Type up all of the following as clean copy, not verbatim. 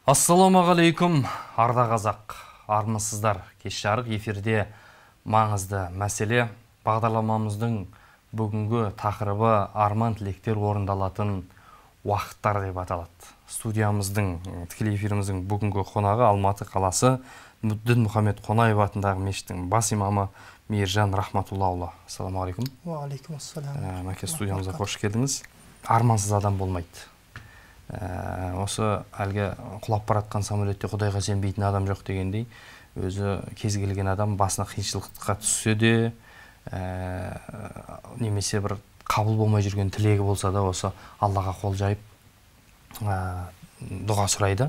Ассаламағалейкум, арда қазақ, армысыздар. Кеш жарық эфирде маңызды мәселе. Бағдарламамыздың бүгінгі тақырыбы арман тілектер орындалатын уақыттар деп аталады. Студиямыздың, тікелей эфиріміздің бүгінгі қонағы Алматы қаласы Дінмұхамед Қонаев атындағы мешіттің бас имамы Мейіржан Рахматуллаұлы. Ассаламағалейкум. Уағалейкум ассалам. Мәке, студиямызға қош келдіңіз. Армансыз адам болмайды. Осы әлгі құлап баратқан самолетте Құдайға сенбейтін адам жоқ дегендей, өзі кез келген адам басына қиыншылыққа түссе де, немесе бір қабыл болмай жүрген тілегі болса да, осы Аллаға қол жайып дұға сұрайды.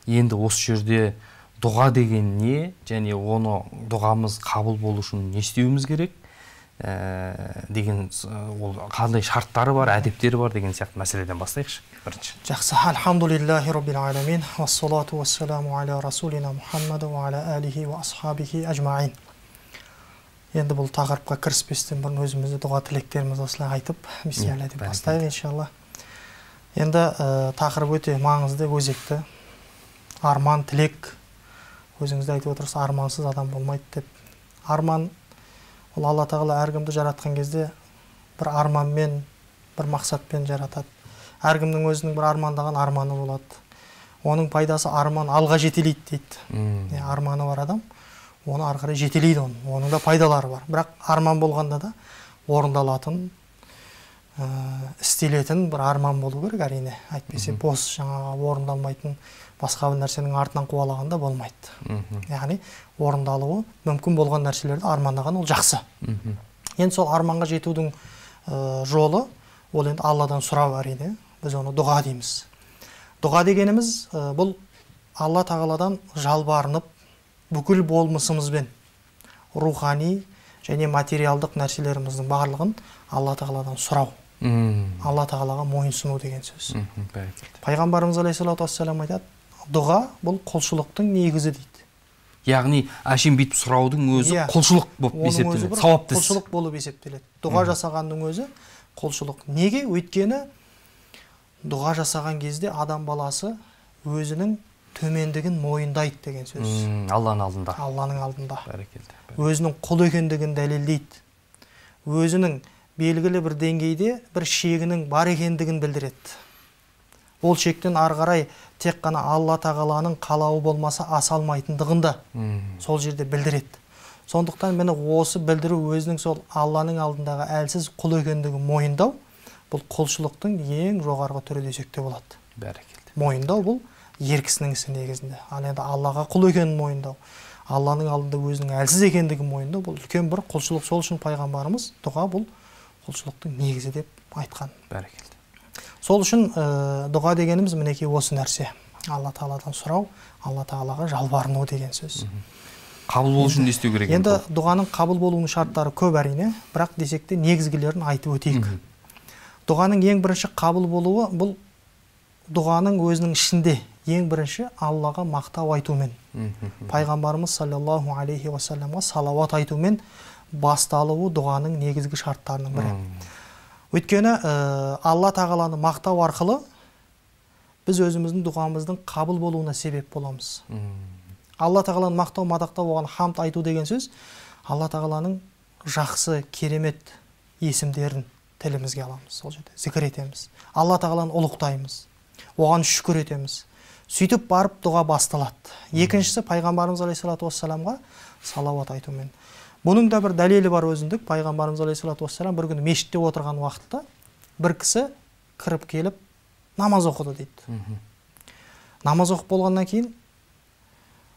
Енді осы жерде дұға деген не, және оны дұғамыз қабыл болу үшін не істеуіміз керек деген, ол қандай шарттары бар, әдептері бар деген сияқты мәселеден бастайықшы. Бірінші. Жақсы. Альхамдулиллахи роббил аламин, вассалату вассаламу аля расулина Мухаммаду ва аля алихи ва асхабихи ажмаин. Енді бұл тақырыпқа кіріспестен бұрын өзімізді дұға тілектеріміз осылай айтып, бисмилля деп бастайық иншалла. Енді тақырып өте маңызды, өзекті. Арман, тілек. Өзіңізді айтып отырсыз, армансыз адам болмайды деп. Арман, ол Алла тағала әркімді жаратқан кезде бір арманмен, бір мақсатпен жаратады. Әркімнің өзінің бір армандаған арманы болады. Оның пайдасы арман алға жетелейді дейді. Арманы бар адам, оны ары қарай жетелейді оны. Оның да пайдалары бар. Бірақ арман болғанда да орындалатын, істелетін бір арман болу керек әрине. Әйтпесе бос жаңағы орындалмайтын басқа бір нәрсенің артынан қуалағанда болмайды. Яғни орындалуы мүмкін болған нәрселерді армандаған ол жақсы. Енді сол арманға жетудің жолы ол енді Алладан сұрау әрине. Біз оны дұға дейміз. Дұға дегеніміз бұл Алла тағаладан жалбарынып бүкіл болмысымызбен рухани және материалдық нәрселеріміздің барлығын Алла тағаладан сұрау. Алла тағалаға мойынсыну деген сөз. Пайғамбарымыз алейхиссалату вассалам айтады, дұға бұл құлшылықтың негізі дейді. Яғни әшейін бүйтіп сұраудың өзі құлшылық болып есептеледі, сауапты іс. Құлшылық болып есептеледі. Дұға жасағанның өзі құлшылық. Неге? Өйткені дұға жасаған кезде адам баласы өзінің төмендігін мойындайды деген сөз. Алланың алдында. Алланың алдында. Бәрекелді. Өзінің құл екендігін дәлелдейді. Өзінің белгілі бір деңгейде бір шегінің бар екендігін білдіреді. Ол шектен ары қарай тек қана Алла тағаланың қалауы болмаса аса алмайтындығын да сол жерде білдіреді. Сондықтан мені осы білдіру өзінің сол Алланың алдындағы әлсіз құл екендігін мойындау, бұл құлшылықтың ең жоғарғы түрі десек те болады. Бәрекелді. Мойындау бұл ер кісінің ісі негізінде. Ал енді Аллаға құл екенін мойындау, Алланың алдында өзінің әлсіз екендігін мойындау, бұл үлкен бір құлшылық. Сол үшін пайғамбарымыз дұға бұл құлшылықтың негізі деп айтқан. Бәрекелді. Сол үшін дұға дегеніміз мінекей осы нәрсе. Алла тағаладан сұрау, Алла тағалаға жалбарыну деген сөз. Қабыл болу үшін не істеу керек? Енді дұғаның қабыл болуының шарттары көп әрине, бірақ десек те негізгілерін айтып өтейік. Дұғаның ең бірінші қабыл болуы бұл дұғаның өзінің ішінде ең бірінші Аллаға мақтау айтумен, пайғамбарымыз саллаллаху алейхи уассаламға салауат айтумен басталуы дұғаның негізгі шарттарының бірі. Өйткені Алла тағаланы мақтау арқылы біз өзіміздің дұғамыздың қабыл болуына себеп боламыз. Алла тағаланы мақтау, мадақтау, оған хамд айту деген сөз Алла тағаланың жақсы, керемет есімдерін тілімізге аламыз, сол жерде зікір етеміз. Алла тағаланы ұлықтаймыз, оған шүкір етеміз. Сөйтіп барып дұға басталады. Екіншісі пайғамбарымыз алейхиссалату вассаламға салауат айтумен. Бұның да бір дәлелі бар өзіндік. Пайғамбарымыз алейхиссалату вассалам бір күні мешітте отырған уақытта бір кісі кіріп келіп намаз оқыды дейді. Намаз оқып болғаннан кейін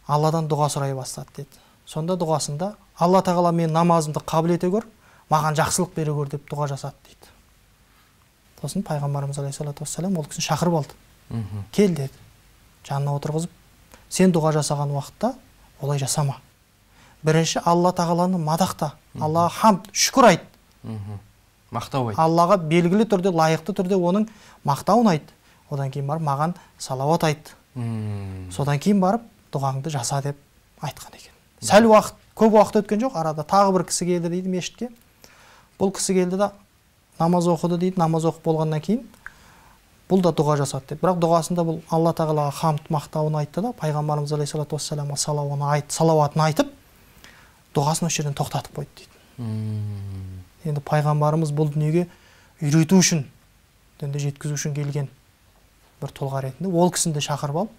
Алладан дұға сұрай бастады дейді. Сонда дұғасында Алла тағала мен намазымды қабыл ете көр, маған жақсылық бере көр деп дұға жасады дейді. Сосын пайғамбарымыз алейхиссалату вассалам ол кісіні шақырып алды. Кел деді. Жанына отырғызып, сен дұға жасаған уақытта олай жасама. Бірінші Алла тағаланы мадақта, Аллаға хамд, шүкір айт. Мақтау айт. Аллаға белгілі түрде, лайықты түрде оның мақтауын айт. Одан кейін барып маған салауат айт. Содан кейін барып дұғаңды жаса деп айтқан екен. Сәл уақыт, көп уақыт өткен жоқ, арада тағы бір кісі келді дейді мешітке. Бұл кісі келді да намаз оқыды дейді. Намаз оқып болғаннан кейін бұл да дұға жасады дейді. Бірақ дұғасында бұл Алла тағалаға хамд мақтауын айтты да, пайғамбарымыз алейхиссалату вассаламға салауатын айтып, дұғасын осы жерден тоқтатып қойды дейді. Енді пайғамбарымыз бұл дүниеге үйрету үшін, дінді жеткізу үшін келген бір тұлға ретінде ол кісіні де шақырып алып,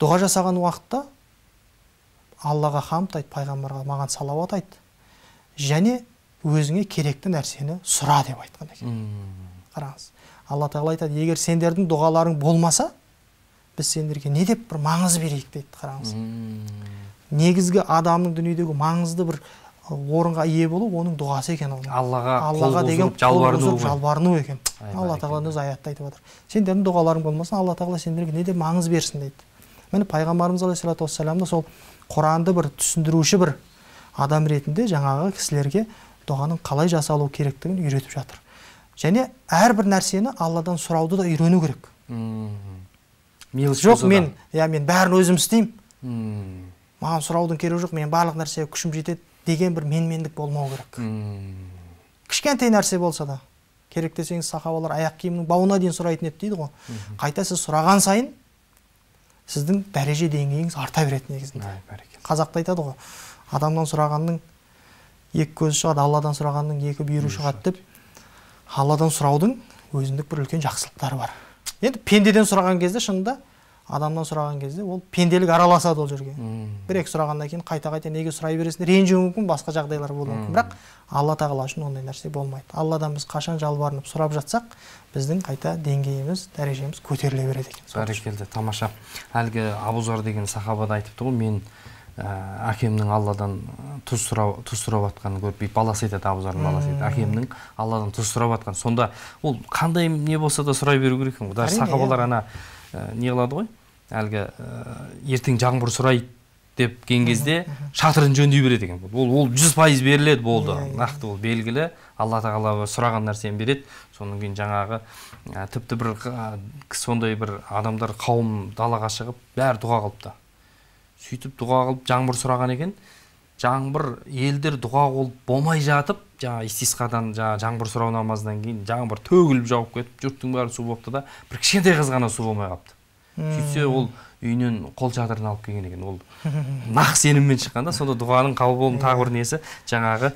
дұға жасаған уақытта Аллаға хамд айт, пайғамбарға маған салауат айт, және өзіңе керекті нәрсені сұра деп айтқан екен. Қараңыз, Алла тағала айтады, егер сендердің дұғаларың болмаса, біз сендерге не деп бір маңыз берейік дейді. Қараңыз, негізгі адамның дүниедегі маңызды бір орынға ие болу оның дұғасы екен. Аллаға деген жалбарыну екен. Алла тағала өз аятта айтып отыр. Сендердің дұғаларың болмаса, Алла тағала сендерге не деп маңыз берсін дейді. Міне пайғамбарымыз алейхиссалату вассаламда сол Құранды бір түсіндіруші бір адам ретінде жаңағы кісілерге дұғаның қалай жасалу керектігін үйретіп жатыр. Және әрбір нәрсені Алладан сұрауды да үйрену керек. Жоқ, мен бәрін өзім істеймін. Маған сұраудың керегі жоқ, мен барлық нәрсеге күшім жетеді деген бір менмендік болмау керек. Кішкентай нәрсе болса да, керек десеңіз сахабалар аяқ киімнің бауына дейін сұрайтын еді дейді ғой. Қайта сіз сұраған сайын сіздің дәреже деңгейіңіз арта береді негізінде. Қазақта айтады ғой, адамнан сұрағанның екі көзі шығады, Алладан сұрағанның екі бүйірі шығады деп. Алладан сұраудың өзіндік бір үлкен жақсылықтары бар. Енді пендеден сұраған кезде, шынында адамнан сұраған кезде ол пенделік араласады ол жерге. Бір-екі сұрағаннан кейін қайта-қайта неге сұрай бересің, ренжуі мүмкін, басқа жағдайлар болуы мүмкін. Бірақ Алла тағала үшін ондай нәрсе болмайды. Алладан біз қашан жалбарынып сұрап жатсақ, біздің қайта деңгейіміз, дәрежеміз көтеріле береді екен. Бәрекелді, тамаша. Әлгі Абу Зар деген сахабада айтыпты ғой, мен әкемнің Алладан тұз сұрап жатқанын көріп, баласы айтады, Абу Зардың баласы айтады, әкемнің Алладан тұз сұрап жатқанын. Сонда ол қандай не болса да сұрай беру керек екен. Даже сахабалар ана не қылады ғой, әлгі ертең жаңбыр сұрайды деп кен кезде шатырын жөндей береді екен. Ол 100% беріледі, болды. Нақты ол белгілі. Алла тағала сұраған нәрсені береді. Соның кейін жаңағы тіпті бір сондай бір адамдар қауым далаға шығып бәрі дұға қылыпты. Сөйтіп дұға қылып жаңбыр сұраған екен. Жаңбыр елдер дұға қылып болмай жатып, жаңа истисқадан жаңбыр сұрау намазынан кейін жаңбыр төгіліп жауып кетіп, жұрттың бәрі су болыпты да, бір кішкентай қыз ғана су болмай қалыпты. Сөйтсе ол үйінен қол шатырын алып келген екен. Ол нақ сеніммен шыққанда, сонда дұғаның қабыл болуының тағы бір несі жаңағы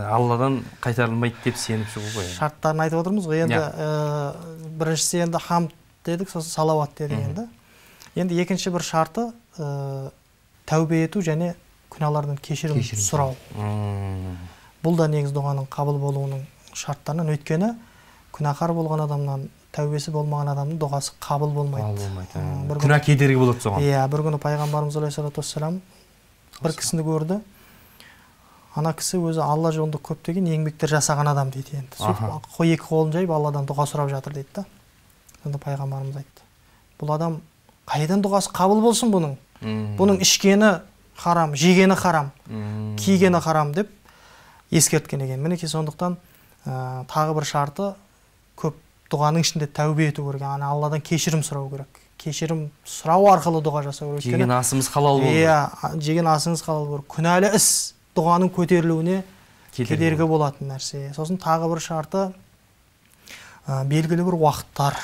Алладан қайтарылмайды деп сеніп шығу ғой. Шарттарын айтып отырмыз ғой. Енді біріншісі енді хамд дедік, сосын салауат дедік енді. Енді екінші бір шарты тәубе ету және күнәлардан кешірім сұрау. Бұл да негіз дұғаның қабыл болуының шарттарынан. Өйткені күнәһар болған адамнан, тәубесі болмаған адамның дұғасы қабыл болмайды. Күнә кедергі болады соған. Иә, бір күні пайғамбарымыз алейхиссалату вассалам бір кісіні көрді. Ана кісі өзі Алла жолында көптеген еңбектер жасаған адам дейді енді. Екі қолын жайып Алладан дұға сұрап жатыр дейді да. Сонда пайғамбарымыз айтты, бұл адам қайдан дұғасы қабыл болсын бұның? Бұның ішкені харам, жегені харам, кигені харам деп ескерткен екен. Мінекей сондықтан тағы бір шарты көп дұғаның ішінде тәубе ету керек. Алладан кешірім сұрау керек. Кешірім сұрау арқылы дұға жасау керек. Жеген асымыз халал болу. Иә, жеген асыңыз халал болу. Күнәлі іс дұғаның көтерілуіне кедергі болатын нәрсе. Сосын тағы бір шарты белгілі бір уақыттар.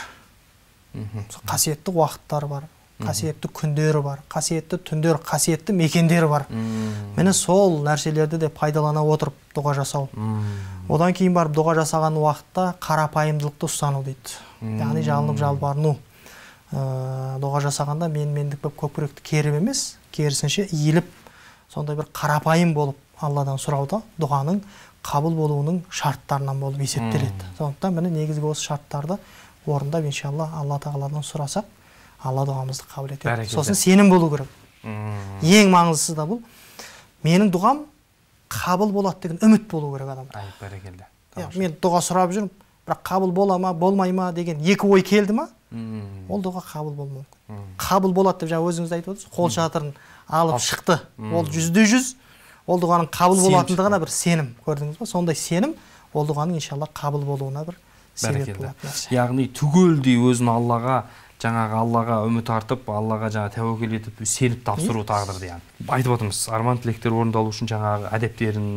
Қасиетті уақыттар бар. Қасиетті күндері бар, қасиетті түндер, қасиетті мекендері бар. Мені сол нәрселерді де пайдалана отырып дұға жасау. Одан кейін барып дұға жасаған уақытта қарапайымдылықты ұстану дейді. Яғни жалынып жалбарыну. Дұға жасағанда менмендік болып көкіректі керіп емес, керісінше иіліп, сондай бір қарапайым болып Алладан сұрауда дұғаның қабыл болуының шарттарынан болып есептеледі. Сондықтан міне негізгі осы шарттарды орындап, иншалла, Алла тағаладан сұрасақ, Алла дұғамызды қабыл етеді. Сосын сенім болу керек. Ең маңыздысы да бұл. Менің дұғам қабыл болады деген үміт болу керек адамда. Бәрекелді. Мен дұға сұрап жүрмін, бірақ қабыл бола ма, болмай ма деген екі ой келді ма, ол дұға қабыл болмау мүмкін. Қабыл болады деп жаңа өзіңіз айтып отырсыз, қол шатырын алып шықты. Ол 100%, ол дұғаның қабыл болатындығына бір сенім, көрдіңіз ба? Сондай сенім ол дұғаның иншалла қабыл болуына бір себеп болады. Яғни түгелдей өзін Аллаға, жаңағы Аллаға үміт артып, Аллаға жаңа тәуекел етіп, сеніп тапсыру тағдырды яғни. Айтып отырмыз, арман тілектер орындалу үшін жаңағы әдептерін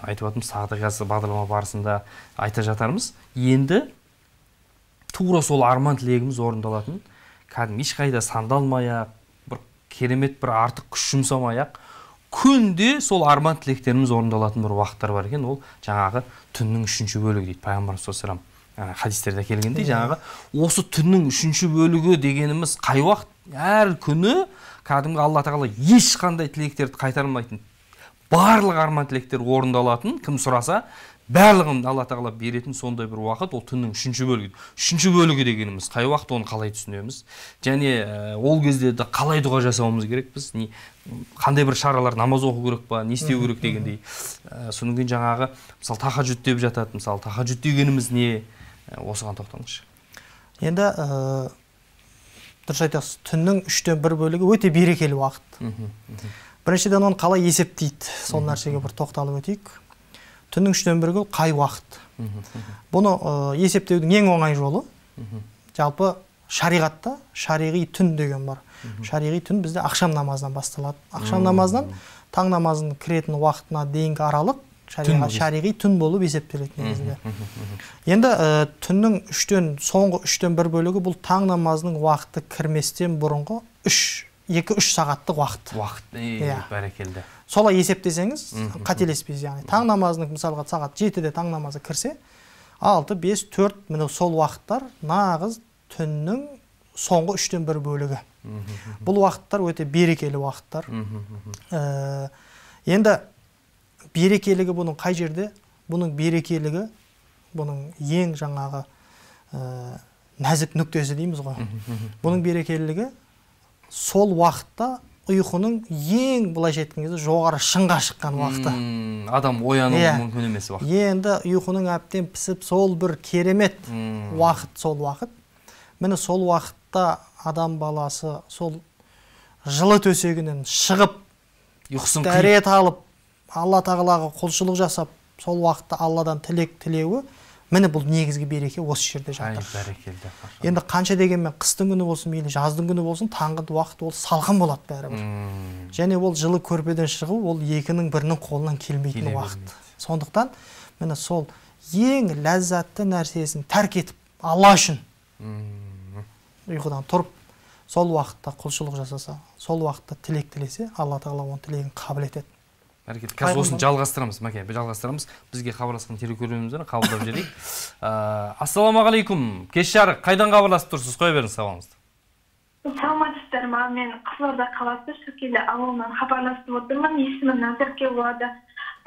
айтып отырмыз, тағдыр бағдарлама барысында айта жатармыз. Енді тура сол арман тілегіміз орындалатын, кәдімгі ешқайда сандалмай-ақ, бір керемет бір артық күш жұмсамай-ақ, күнде сол арман тілектеріміз орындалатын бір уақыттар бар екен, ол жаңағы түннің 3-ші бөлігі дейді пайғамбарымыз саллаллаху алейхи вассалам хадистерде келгендей, жаңағы осы түннің 3-ші бөлігі дегеніміз қай уақыт? Әр күні кәдімгі Алла тағала ешқандай тілектерді қайтармайтын, барлық арман тілектер орындалатын, кім сұраса барлығын Алла тағала беретін сондай бір уақыт, ол түннің 3-ші бөлігі. 3-ші бөлігі дегеніміз қай уақыт, оны қалай түсінеміз? Және ол кезде де қалай дұға жасауымыз керек біз? Қандай бір шаралар, намаз оқу керек па, не істеу керек дегендей. Содан кейін жаңағы, мысалы тахаджуд деп жатады, мысалы тахаджуд дегеніміз не? Осыған тоқтаңызшы. Енді дұрыс айтасыз, түннің 3-тен 1 бөлігі өте берекелі уақыт. Біріншіден оны қалай есептейді, сол нәрсеге бір тоқталып өтейік. Түннің 3-тен 1 қай уақыт? Бұны есептеудің ең оңай жолы, жалпы шариғатта шариғи түн деген бар. Шариғи түн бізде ақшам намазынан басталады. Ақшам намазынан таң намазының кіретін уақытына дейінгі аралық шариғи түн болып есептеледі негізінде. Енді түннің соңғы 3-тен 1 бөлігі бұл таң намазының уақыты кірместен бұрынғы 2-3 сағаттық уақыт. Бәрекелді. Солай есептесеңіз, қателеспейсіз, яғни таң намазының мысалға сағат 7-де таң намазы кірсе, 6, 5, 4 міне сол уақыттар нағыз түннің соңғы 3-тен 1 бөлігі. Бұл уақыттар өте берекелі уақыттар. Енді берекелігі бұның қай жерде? Бұның берекелігі, бұның ең жаңағы нәзік нүктесі дейміз ғой. Бұның берекелігі сол уақытта ұйқының ең былайша айтқан кезде жоғары шыңға шыққан уақыты. Адам оянуы мүмкін емес уақыт. Енді ұйқының әбден пісіп, сол бір керемет уақыт, сол уақыт. Міне сол уақытта адам баласы сол жылы төсегінен шығып, дәрет алып, Алла тағалаға құлшылық жасап, сол уақытта Алладан тілек тілеуі, міне бұл негізгі береке осы жерде жатыр. Енді қанша дегенмен қыстың күні болсын, мейлі жаздың күні болсын, таңғы уақыт ол салқын болады бәрібір. Және ол жылы көрпеден шығу, ол екінің бірінің қолынан келмейтін уақыт. Сондықтан міне сол ең ләззатты нәрсесін тәрк етіп, Алла үшін ұйқыдан тұрып, сол уақытта құлшылық жасаса, сол уақытта тілек тілесе, Алла тағала оның тілегін қабыл етеді. Қазір осыны жалғастырамыз, Мәке, жалғастырамыз. Бізге хабарласқан телекөрерменімізден қабылдап жіберейік. Ассалаумағалейкум. Кеш жарық, қайдан хабарласып тұрсыз? Қоя беріңіз сауалыңызды. Саламатсыздар ма? Мен Қызылорда қаласы Шөкелі ауылынан хабарласып отырмын. Есімім Назерке болады.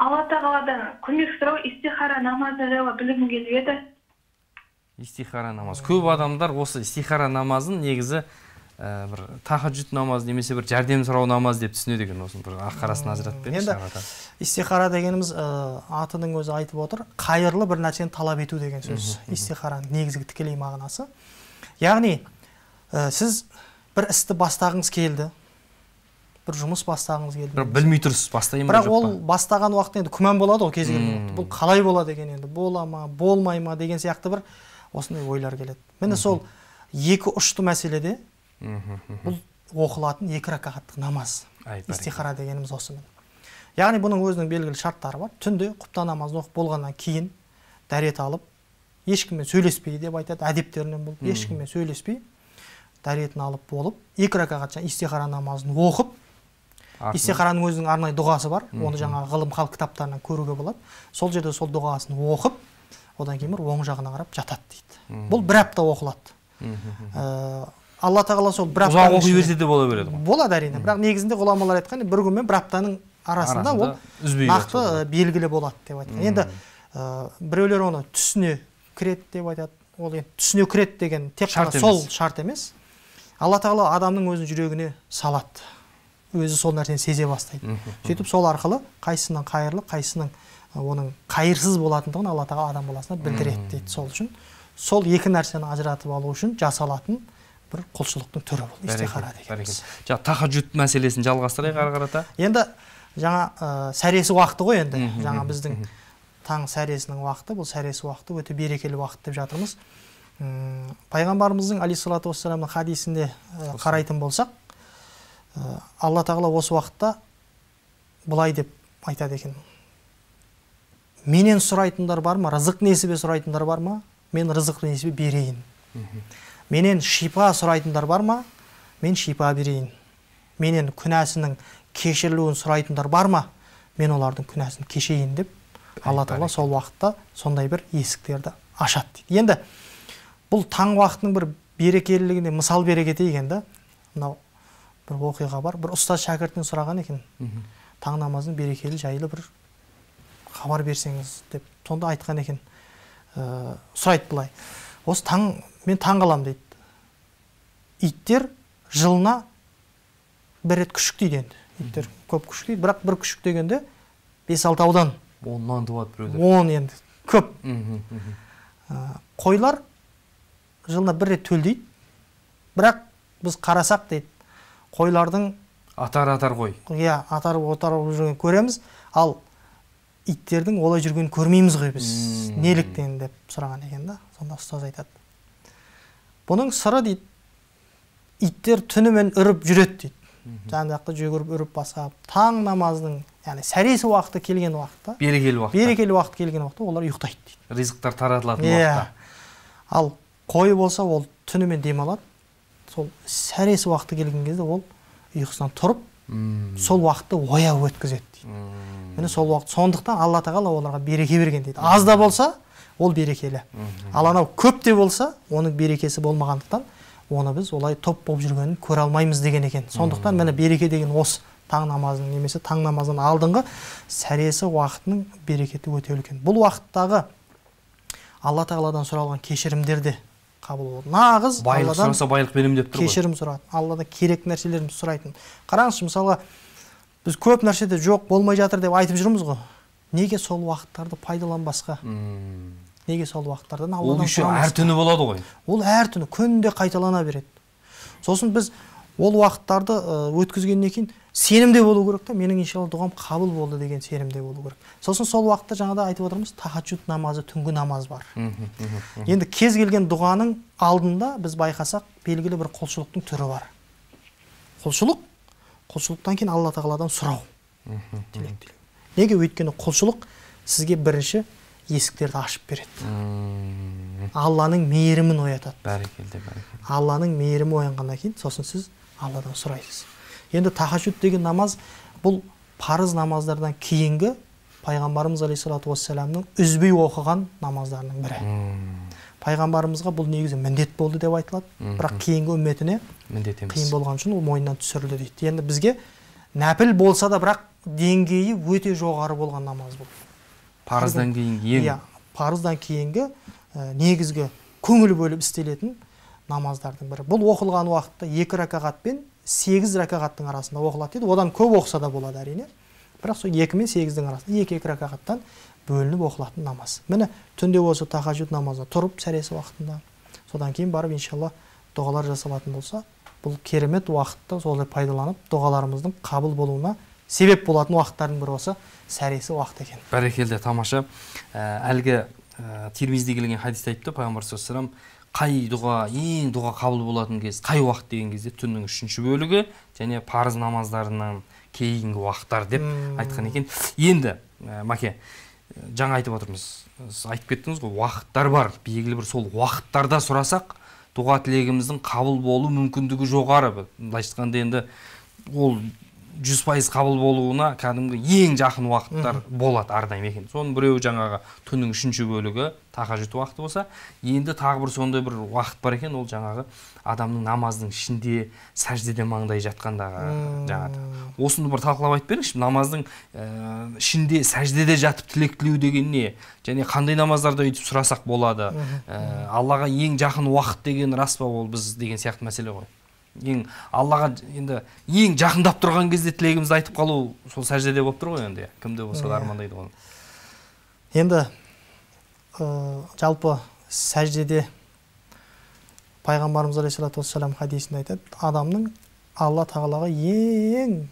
Алла тағаладан көмек сұрау, истихара намазы жайлы білгім келіп еді. Истихара намазы. Көп адамдар осы истихара намазын негізі бір тахаджуд намаз немесе бір жәрдем сұрау намаз деп түсінеді екен. Осыны бір аққарасын ажыратып беріңізші. Енді истихара дегеніміз атының өзі айтып отыр, қайырлы бір нәрсені талап ету деген сөз. Истихараның негізгі тікелей мағынасы. Яғни сіз бір істі бастағыңыз келді, бір жұмыс бастағыңыз келді. Бірақ білмей тұрсыз, бастайын ба жоқ па? Бірақ ол бастаған уақытта енді күмән болады ғой кез келген. Бұл қалай болады деген, енді бола ма, болмай ма деген сияқты бір осындай ойлар келеді. Міне сол екі ұшты мәселеде бұл оқылатын 2 ракағаттық намаз. Истихара дегеніміз осы. Яғни бұның өзінің белгілі шарттары бар. Түнде құптан намазын оқып болғаннан кейін дәрет алып, ешкіммен сөйлеспей деп айтады, әдептерінен болып, ешкіммен сөйлеспей, дәретін алып болып, 2 ракағат истихара намазын оқып, истихараның өзінің арнайы дұғасы бар, оны жаңа ғылым хал кітаптарынан көруге болады. Сол жерде сол дұғасын оқып, одан кейін оң жағына қарап жатады дейді. Бұл 1 апта оқылады. Алла тағала сол бір аптаның ұзақ оқи берсе де бола береді ғой. Болады әрине. Бірақ негізінде ғұламалар айтқан, бір күн мен бір аптаның арасында ол нақты белгілі болады деп айтқан. Енді біреулер оны түсіне кіреді деп айтады. Ол енді түсіне кіреді деген тек қана сол шарт емес. Алла тағала адамның өзінің жүрегіне салады. Өзі сол нәрсені сезе бастайды. Сөйтіп сол арқылы қайсысының қайырлы, қайсысының оның қайырсыз болатындығын Алла тағала адам баласына білдіреді дейді. Сол үшін сол екі нәрсені ажыратып алу үшін жасалатын бір құлшылықтың түрі бұл истихара дегеніміз. Тахаджуд мәселесін жалғастырайық ары қарата. Енді жаңа сәресі уақыты ғой енді. Жаңа біздің таң сәресінің уақыты, бұл сәресі уақыты өте берекелі уақыт деп жатырмыз. Пайғамбарымыздың алейхиссалату вассаламның хадисінде қарайтын болсақ, Алла тағала осы уақытта былай деп айтады екен. Менен сұрайтындар бар ма? Рызық несібе сұрайтындар бар ма? Мен рызық несібе берейін. Менен шипа сұрайтындар бар ма? Мен шипа берейін. Менен күнәсінің кешірілуін сұрайтындар бар ма? Мен олардың күнәсін кешейін деп, Алла Тағала сол уақытта сондай бір есіктерді ашады дейді. Енді бұл таң уақытының бір берекелілігіне мысал бере кетейік енді. Мынау бір оқиға бар. Бір ұстаз шәкіртінен сұраған екен. Таң намазының берекелі жайлы бір хабар берсеңіз деп. Сонда айтқан екен. Сұрайды былай. Осы мен таң қалам дейді. Иттер жылына бір рет күшік дейді енді. Иттер көп күшік дейді, бірақ бір күшік дегенде 5-6 аудан. 10-нан туады біреулер. 10 енді көп. Қойлар жылына бір рет төлдейді. Бірақ біз қарасақ дейді, қойлардың атар қой. Иә, атар жүрген көреміз, ал иттердің олай жүргенін көрмейміз ғой біз. Неліктен деп сұраған екен да. Сонда ұстаз айтады. Бұның сыры дейді, иттер түнімен үріп жүреді дейді. Жан-жақты жүгіріп үріп басап, таң намазының, яғни сәресі уақыты келген уақытта, берекелі уақыт келген уақытта олар ұйықтайды дейді. Ризықтар таратылатын уақытта. Ал қой болса, ол түнімен демалады. Сол сәресі уақыты келген кезде ол ұйқысынан тұрып, сол уақытты ояу өткізеді дейді. Міне сол уақыт, сондықтан Алла Тағала оларға береке берген дейді. Аз да болса, ол берекелі. Ал анау көп те болса, оның берекесі болмағандықтан, оны біз олай топ болып жүргенін көре алмаймыз деген екен. Сондықтан міне береке деген осы таң намазының немесе таң намазынан алдыңғы сәресі уақытының берекеті өте үлкен. Бұл уақыттағы Алла Тағаладан сұралған кешірімдерді қабыл болды. Нағыз байлық сұраса байлық беремін деп тұр ғой. Кешірім сұрады. Алладан керек нәрселерімізді сұрайтын. Қараңызшы, мысалға біз көп нәрседе жоқ болмай жатыр деп айтып жүрміз ғой. Неге сол уақыттарды пайдаланбасқа? Неге сол уақыттардан Алладан сұрамасқа? Ол әр түні болады ғой. Ол әр түні күнде қайталана береді. Сосын біз ол уақыттарды өткізгеннен кейін сенімде болу керек та, менің иншалла дұғам қабыл болды деген сенімде болу керек. Сосын сол уақытта жаңада айтып отырмыз, тахаджуд намазы, түнгі намаз бар. Енді кез келген дұғаның алдында біз байқасақ, белгілі бір құлшылықтың түрі бар. Құлшылықтан кейін Алла Тағаладан сұрау. Неге? Өйткені құлшылық сізге бірінші есіктерді ашып береді. Алланың мейірімін оятады. Бәрекелді. Алланың мейірімі оянғаннан кейін, сосын сіз Алладан сұрайсыз. Енді тахаджуд деген намаз бұл парыз намаздардан кейінгі пайғамбарымыз алейхиссалату вассаламның үзбей оқыған намаздарының бірі. Пайғамбарымызға бұл негізі міндет болды деп айтылады, бірақ кейінгі үмметіне қиын болған үшін ол мойнынан түсірілді дейді. Енді бізге нәпіл болса да, бірақ деңгейі өте жоғары болған намаз бұл. Парыздан кейінгі парыздан кейінгі негізгі көңіл бөліп істелетін намаздардың бірі. Бұл оқылған уақытта 2 ракағат пен 8 ракағаттың арасында оқылады дейді. Одан көп оқса да болады әрине. Бірақ сол 2 мен 8-дің арасында 2 ракағаттан бөлініп оқылатын намаз. Міне түнде осы тахаджуд намазы тұрып сәресі уақытында, содан кейін барып иншалла дұғалар жасалатын болса, бұл керемет уақытта солай пайдаланып дұғаларымыздың қабыл болуына себеп болатын уақыттардың бірі осы сәресі уақыт екен. Бәрекелді, тамаша. Әлгі Тирмизиде келген хадисте айтты пайғамбар саллаллаху алейхи қай дұға, ең дұға қабыл болатын кез, қай уақыт деген кезде түннің 3-ші бөлігі және парыз намаздарынан кейінгі уақыттар деп айтқан екен. Енді, Маке, жаңа айтып отырмыз, айтып кеттіңіз ғой, уақыттар бар, белгілі бір сол уақыттарда сұрасақ, дұға тілегіміздің қабыл болу мүмкіндігі жоғары. Былайша айтқанда енді ол 100% қабыл болуына кәдімгі ең жақын уақыттар болады әрдайым екен. Соның біреуі жаңағы түннің 3-ші бөлігі тахаджуд уақыты болса, енді тағы бір сондай бір уақыт бар екен, ол жаңағы адамның намаздың ішінде сәждеде маңдай жатқандағы жаңағы. Осыны бір талқылап айтып беріңізші, намаздың ішінде сәждеде жатып тілек тілеу деген не? Және қандай намаздарда өйтіп сұрасақ болады? Аллаға ең жақын уақыт деген рас па ол біз деген сияқты мәселе ғой. Аллаға енді ең жақындап тұрған кезде тілегімізді айтып қалу сол сәждеде болып тұр ғой енді. Кімде болса да армандайды ғой. Енді жалпы сәждеде пайғамбарымыз алейхиссалату вассалам хадисінде айтады, адамның Алла Тағалаға ең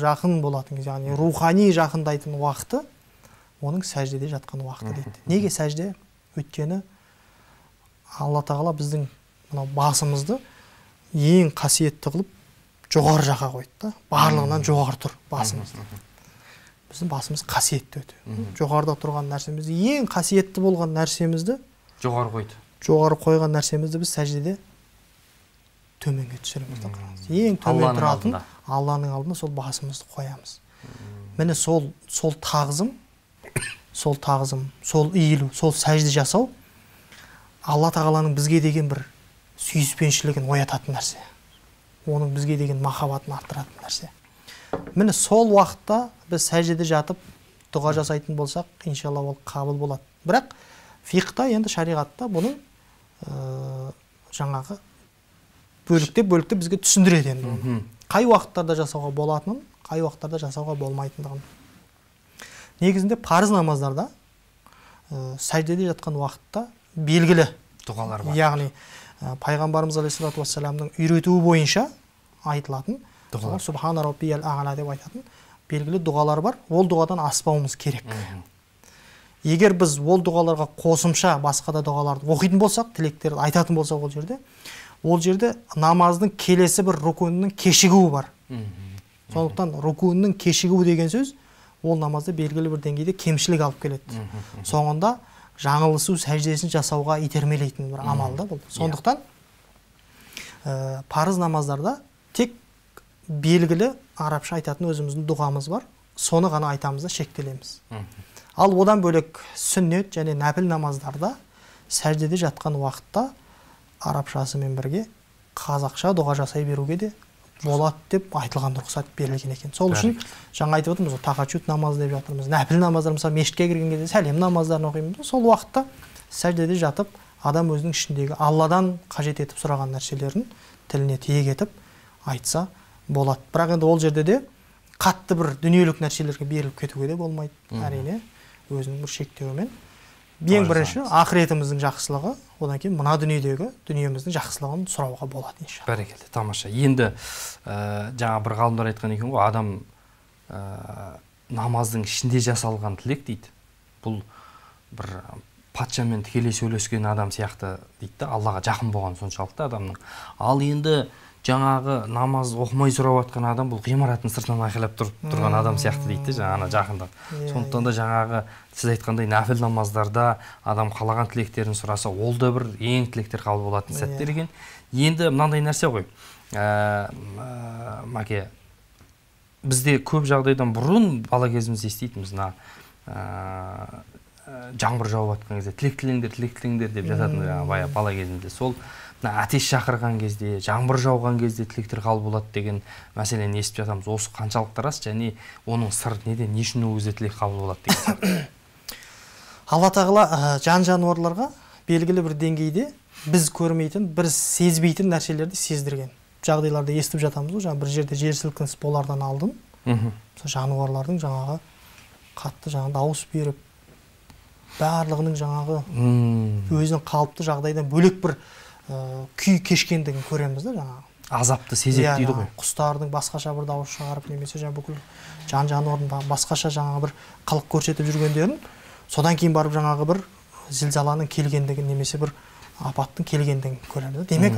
жақын болатын, яғни рухани жақындайтын уақыты оның сәждеде жатқан уақыты дейді. Неге сәжде? Өйткені Алла Тағала біздің басымызды ең қасиетті қылып жоғары жаққа қойды да, барлығынан жоғары тұр басымыз. Біздің басымыз қасиетті өте. Жоғарыда тұрған нәрсемізді, ең қасиетті болған нәрсемізді жоғары қойды. жоғары қойған нәрсемізді біз сәждеде төменге түсіреміз да қараңыз. Ең төмен тұратын Алланың алдында сол басымызды қоямыз. Міне сол тағзым, сол иілу, сол сәжде жасау Алла тағаланың бізге деген бір сүйіспеншілігін оятатын нәрсе. Оның бізге деген махаббатын арттыратын нәрсе. Міне сол уақытта біз сәждеде жатып дұға жасайтын болсақ, иншалла ол қабыл болады. Бірақ фиқта, енді шариғатта бұның жаңағы бөлікте бізге түсіндіреді енді. Қай уақыттарда жасауға болатынын, қай уақыттарда жасауға болмайтындығын. Негізінде парыз намаздарда сәждеде жатқан уақытта белгілі дұғалар бар. Яғни пайғамбарымыз алейхиссалату вассаламның үйретуі бойынша айтылатын дұғалар, субхана раббиял а'ла деп айтатын белгілі дұғалар бар. Ол дұғадан аспауымыз керек. Егер біз ол дұғаларға қосымша басқа да дұғаларды оқитын болсақ, тілектерді айтатын болсақ ол жерде намаздың келесі бір рукунның кешігуі бар. Сондықтан рукунның кешігуі деген сөз ол намазды белгілі бір деңгейде кемшілік алып келеді. Соңында жаңылысу сәждесін жасауға итермелейтін бір амал да бұл. Сондықтан парыз намаздарда тек белгілі арабша айтатын өзіміздің дұғамыз бар. Соны ғана айтамыз да шектелеміз. Ал одан бөлек сүннет және нәпіл намаздарда сәждеде жатқан уақытта арабшасымен бірге қазақша дұға жасай беруге де болады деп айтылған рұқсат берілген екен. Сол үшін жаңа айтып отырмыз, тахаджуд намазы деп жатырмыз. Нәпіл намаздар, мысалы мешітке кірген кезде сәлем намаздарын оқимыз. Сол уақытта сәждеде жатып, адам өзінің ішіндегі Алладан қажет етіп сұраған нәрселерін тіліне тиек етіп айтса болады. Бірақ енді ол жерде де қатты бір дүниелік нәрселерге беріліп кетуге де болмайды. Әрине, өзінің бір шектеуімен. Ең бірінші ақыретіміздің жақсылығы, одан кейін мына дүниеміздің жақсылығын сұрауға болады иншалла. Бәрекелді, тамаша. Енді жаңа бір ғалымдар айтқан екен ғой, адам намаздың ішінде жасалған тілек дейді. Бұл бір патшамен тікелей сөйлескен адам сияқты дейді, Аллаға жақын болған соншалықты адамның. Ал енді жаңағы намаз оқымай сұрап жатқан адам бұл ғимараттың сыртынан айқайлап тұрған адам сияқты дейді, жаңа жақында. Сондықтан да жаңағы сіз айтқандай нәпіл намаздарда адам қалаған тілектерін сұраса, ол да бір ең тілектер қабыл болатын сәттер екен. Енді мынандай нәрсе ғой. Мәке, бізде көп жағдайдан бұрын бала кезімізде еститінбіз, жаңбыр жауып жатқан кезде тілек тілеңдер деп жататын бала кезімізде. Сол атеш шақырған кезде, жаңбыр жауған кезде тілектер қабыл болады деген мәселені естіп жатамыз. Осы қаншалықты рас және оның сыры неде, не үшін ол кезде тілек қабыл болады деген. Алла тағала жан-жануарларға белгілі бір деңгейде біз көрмейтін, біз сезбейтін нәрселерді сездірген. Жағдайларды естіп жатамыз ғой, бір жерде жер сілкінісі болардан алдын. Жануарлардың жаңағы қатты дауыс беріп, барлығының жаңағы өзінің қалыпты жағдайдан бөлек бір күй кешкендігін көреміз да жаңағы. Азапты сезеді дейді ғой. Құстардың басқаша бір дауыс шығарып, немесе бүкіл жан-жануардың басқаша жаңағы бір қылық көрсетіп жүргендерін, содан кейін барып жаңағы бір зілзаланың келгендігін, немесе бір апаттың келгендігін көреміз. Демек,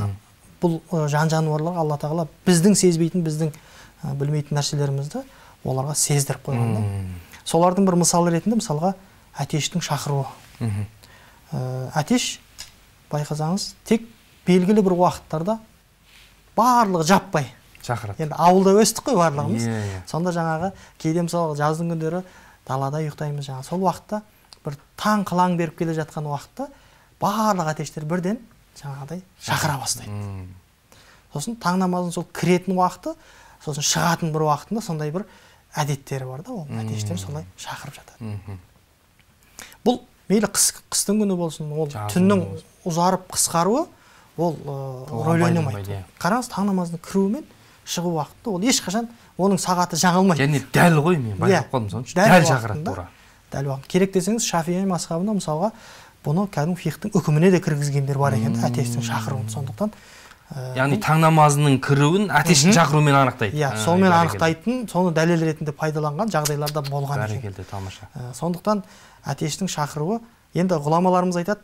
бұл жан-жануарларға Алла тағала біздің сезбейтін, біздің білмейтін нәрселерімізді оларға сездіріп қойған да. Солардың бір мысалы ретінде, мысалға, әтештің шақыруы. Әтеш, байқасаңыз, тек белгілі бір уақыттарда барлығы жаппай шақырады. Енді ауылда өстік қой барлығымыз. Сонда жаңағы кейде мысалы жаздың күндері далада ұйықтаймыз, жаңағы сол уақытта бір таң қылаң беріп келе жатқан уақытта барлық әтештер бірден жаңағыдай шақыра бастайды. Сосын таң намазын сол кіретін уақыты, сосын шығатын бір уақытында сондай бір әдеттері бар да, ол әтештер солай шақырып жатады. Бұл мейлі қыстың күні болсын, ол түннің ұзарып қысқаруы, ол рөлөнемейді. Қараңыз, таң намазының кіруі мен шығу уақыты, ол ешқашан оның сағаты жаңылмайды. Және дәл ғой, мен байқап қалдым соны, дәл шақырады тура. Дәл уақыт. Керек десеңіз, Шафии мазхабында мысалға бұны кәдімгі фиқтың үкіміне де кіргізгендер бар екен, әтештің шақыруын. Сондықтан яғни таң намазының кіруін әтештің шақыруымен анықтайды. Иә, сонымен анықтайтын, соны дәлел ретінде пайдаланған жағдайларда болған екен. Бәрекелді, тамаша. Сондықтан әтештің шақыруы, енді ғұламаларымыз айтады,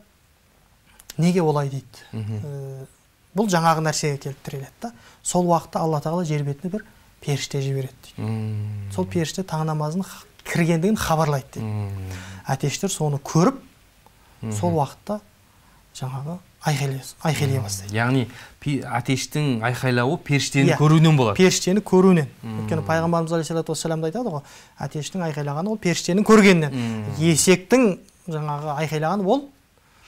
неге олай дейді. Бұл жаңағы нәрсеге келіп тіреледі. Сол уақытта Алла тағала жер бетіне бір періште жібереді дейді. Сол періште таң намазының кіргендігін хабарлайды дейді. Әтештер соны көріп, сол уақытта жаңағы айқайлай бастайды. Яғни атештің айқайлауы періштені көруінен болады. Періштені көруінен. Өйткені пайғамбарымыз алейхиссалату вассаламда айтады ғой, атештің айқайлағаны ол періштенің көргенінен. Есектің жаңағы айқайлағаны ол